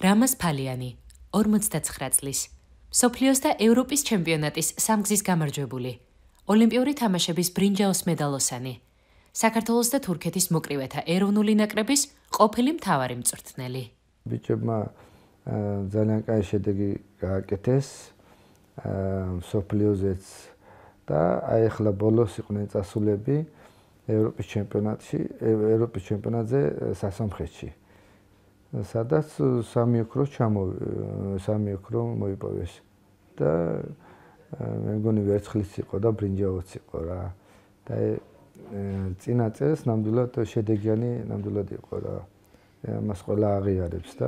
რამაზ ფალიანი, 59 წლის. მსოფლიოს და ევროპის ჩემპიონატის სამგზის გამარჯვებული. ოლიმპიური თამაშების ბრინჯაოს მედალოსანი. საქართველოს და თურქეთის მოკრივეთა ეროვნული ნაკრების ყოფილი მთავარი მწვრთნელი. ბიჭებმა ძალიან კაი შედეგი გააკეთეს მსოფლიოზეც და აი ახლა ბოლოს იყვნენ წასულები ევროპის ჩემპიონატზე სასამხეთში. სადაც სამი ოქრო მოიპოვეს და მე მგონი ვერცხლიც იყო და ბრინჯაოც იყო რა. და წინა წელს ნამდვილად შედეგიანი ნამდვილად იყო რა. მას ყველა აღიარებს და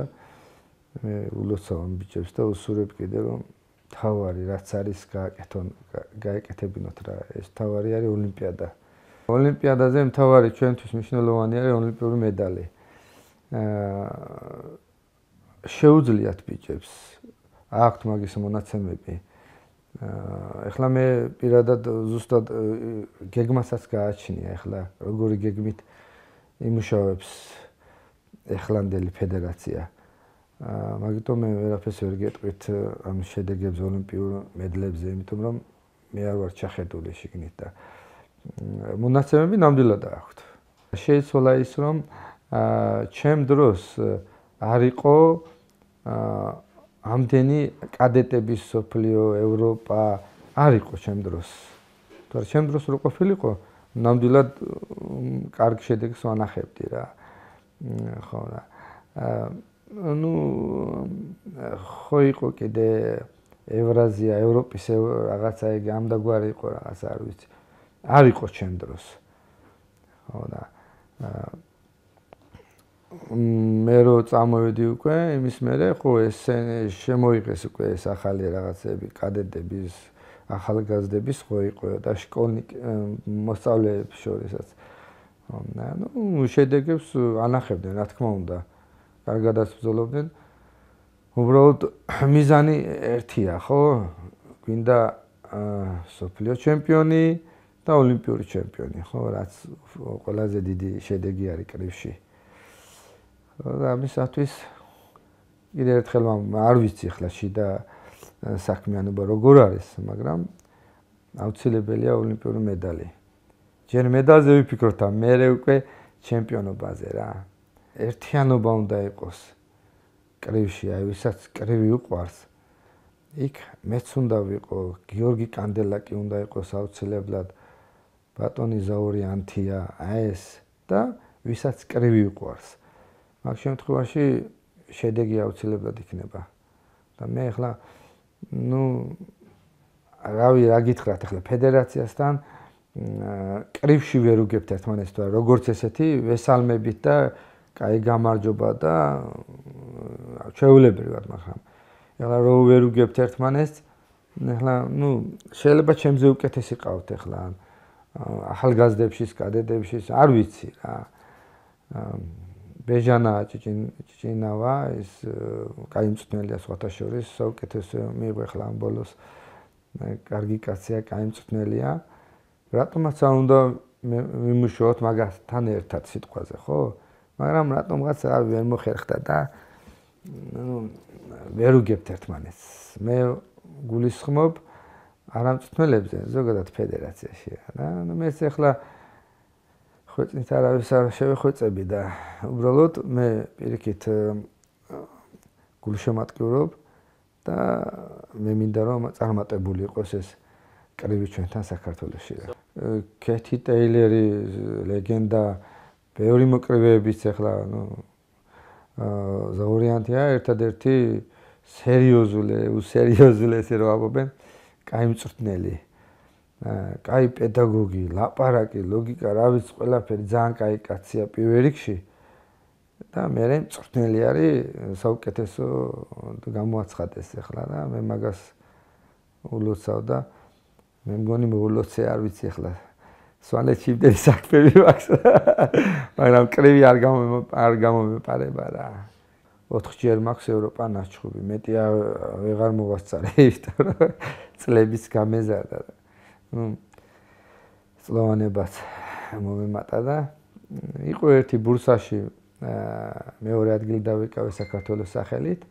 მე ულოცავ ბიჭებს და უსურვებ კიდე რომ თავარი რაც არის გაეკეთებინოთ რა. ეს თავარი არის ოლიმპიადა. ოლიმპიადაზე მთავარი ჩვენთვის მნიშვნელოვანი არის ოლიმპიური медали. შეუძლიათ ბიჭებს აქვთ მაგის მონაცემები. ეხლა მე პირადად ზუსტად გეგმასაც გააჩნია ეხლა როგორი გეგმით იმუშავებს ეხლანდელი ფედერაცია. მაგიტომ მე ვერაფერს ვერ გეტყვით ამ შედეგებს ოლიმპიურ მედლებზე, იმიტომ რომ მე არ ვარ ჩახედული შიგნით და მონაცემები ნამდვილად აქვთ. შეიცვალა ის რომ ჩემ დროს არ იყო ამდენი კადეტების სოფლიო ევროპა არ იყო ჩემ დროს. თორე ჩემ დროს რო ყოფილიყო ნამდვილად კარგ შედეგს ვანახებდი რა. ხო რა. ხო იყო კიდე ევრაზია, ევროპის რაღაცა იგი ამდაგვარი იყო რაღაცა არ ვიცი. არ იყო ჩემ დროს. ხო და მე რო წამოვედი უკვე იმის მერე ხო ეს შემოიღეს უკვე ეს ახალი რაღაცები კადეტების ახალგაზრდების ხო იყო და მოსწავლეებს შორისაც შედეგებს ანახებდნენ რა თქმა უნდა კარგადაც ბრძოლობდნენ უბრალოდ მიზანი ერთია ხო გვინდა სოფლიო ჩემპიონი და ოლიმპიური ჩემპიონი ხო რაც ყველაზე დიდი შედეგი არის კრივში და ამისათვის კიდე ერთხელ არ ვიცი ახლა შიდა საქმიანობა როგორ არის, მაგრამ აუცილებელია ოლიმპიური медали. ჯერ медалზე ვიფიქროთ, მერე უკვე ჩემპიონობაზე რა. ერთიანობა უნდა იყოს კრივში, აი ვისაც კრივი უყვარს. იქ მეც უნდა ვიყო, გიორგი კანდელაკი უნდა იყოს აუცილებლად, ბატონი ზაური ანთია, ეს და ვისაც კრივი უყვარს. მაგ შემთხვევაში შედეგი აუცილებლად იქნება. და მე ახლა რა გითხრათ ახლა ფედერაციასთან კრივში ვერ უგებთ ერთმანეთს თუ როგორც ესეთი ვესალმებით და კაი გამარჯობა და ჩვეულებრივად მაგრამ ახლა რო ვერ უგებთ ერთმანეთს ახლა შეიძლება ჩემზე უკეთესი ყავთ ახლა ახალგაზრდებშიც კადეტებშიც არ ვიცი რა ბეჟანა ჭიჭინავა ის კაი მწვრთნელია სხვათა შორის საუკეთესო მიიღო ახლა ამ ბოლოს კარგი კაცია კაი მწვრთნელია რატომაც არ უნდა ვიმუშაოთ მაგასთან ერთად სიტყვაზე ხო მაგრამ რატომღაც ვერ მოხერხდა და ვერ უგებთ ერთმანეთს მე გულისხმობ არა მწვრთნელებზე ზოგადად ფედერაციაში რა მეც ახლა ხვეწით არავის არ შევეხვეწები და უბრალოდ მე პირიქით გულშემატკივრობ და მე მინდა რომ წარმატებული იყოს ეს კრივი ჩვენთან საქართველოში. კეთი ტეილერი ლეგენდა ბევრი მოკრივეებიც ახლა ზაურიანთია ერთადერთი სერიოზული ესე რომ ამობენ კაი მწვრთნელი კაი პედაგოგი, ლაპარაკი, ლოგიკა, რა ვიცი, ყველაფერი ძალიან კაი კაცია პირველ რიგში და მე მწვრთნელი არის საუკეთესო გამოაცხადეს ახლა და მე მაგას ულოცავ და მე მგონი მოულოცე არ ვიცი ახლა სვანეთში იმდენი საქმეები მაქვს მაგრამ კრივი არ გამომეპარება რა 4-ჯერ მაქვს ევროპა ნაჩხუბი მეტი ვეღარ მოვასწარე იმიტომ რომ წლების გამეზარდა წლოვანებაც მომემატა და იყო ერთი ბურსაში მეორე ადგილი დავიკავე საქართველოს სახელით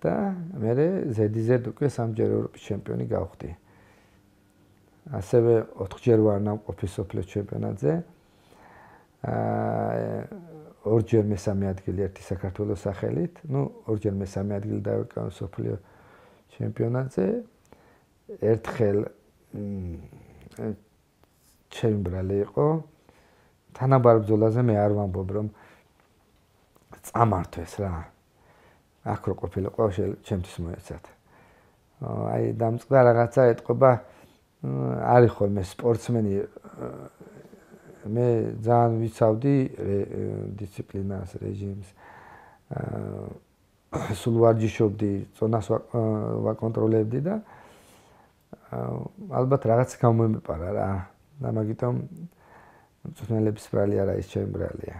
და მე ზედიზედ უკვე 3-ჯერ ევროპის ჩემპიონი გავხდი. ასევე 4-ჯერ ვარ ნამყოფი სოფლიოს ჩემპიონატზე. 2-ჯერ მესამე ადგილი ერთი საქართველოს სახელით, 2-ჯერ მესამე ადგილი დავიკავე სოფლიოს ჩემპიონატზე. ერთხელ ჩემი ბრალი იყო. თანაბარ ბრძოლაზე მე არ ვამბობ, რომ წამართვეს რა. აქ რო ყოფილიყო, ჩემთვის მოეცათ. აი დამწყდა რაღაცა ეთყობა, არის ხოლმე სპორტსმენი, მე ძალიან ვიცავდი დისციპლინას, რეჟიმს. სულ ვარჯიშობდი, წონას ვაკონტროლებდი და ალბათ რაღაც გამომეპარა რა. და მაგიტომ მწვრთნელების ბრალი არა ის ჩემი ბრალია.